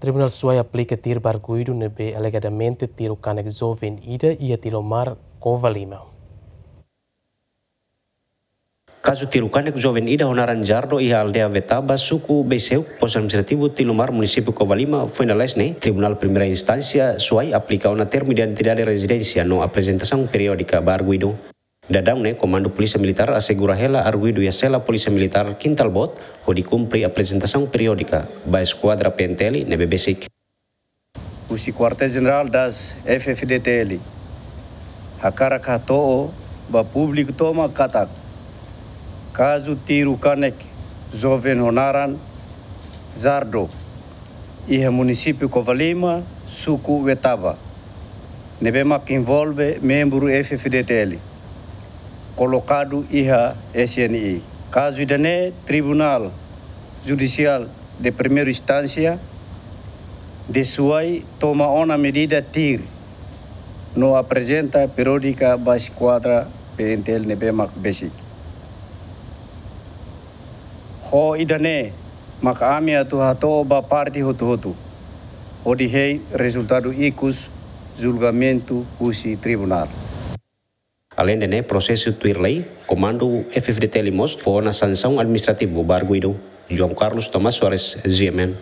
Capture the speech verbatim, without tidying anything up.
Tribunál Suai aplika tiru ba arguidu ne'ebé alegadamente tiru kanek joven ida iha Tilomar, Covalima. Kazu tiru kanek joven ida ho naran Jardo iha aldeia Vetaba, suku Beiseuk, postu administrativu Tilomar, munisípiu Covalima, foin lalais ne'e, Tribunál Primeira Instánsia Suai aplika ona termu de identidade rezidénsia no aprezentasaun periódika ba arguidu. Daudaun ne'e, Komandu Polísia Militár asegura hela arguidu iha sela Polísia Militár Kintalbot, hodi kumpre aprezentasaun periódika ba eskuadra P N T L ne'ebé besik. Husi Kuartél Jenerál das F-FDTL hakarak hato'o ba públiku tomak katak kazu tiru kanek joven ho naran Jardo iha munisípiu Covalima, suku Vetaba, ne'ebé mak envolve membru F-FDTL, kolokadu iha S N I. Kazu ida-ne'e, Tribunál Judisiál de Primeira Instánsia de Suai toma ona medida tiru no aprezenta periódika ba eskuadra P N T L ne'ebé mak besik. Ho ida-ne'e mak ami atu hato'o ba parte hotu-hotu hodi hein rezultadu ikus julgamentu husi tribunál. Aleinde ne'e prosesu tuir lei, Komandu F-FDTL mós fó ona sansaun administrativu ba arguidu. João Carlos Tomás Soares, G M N.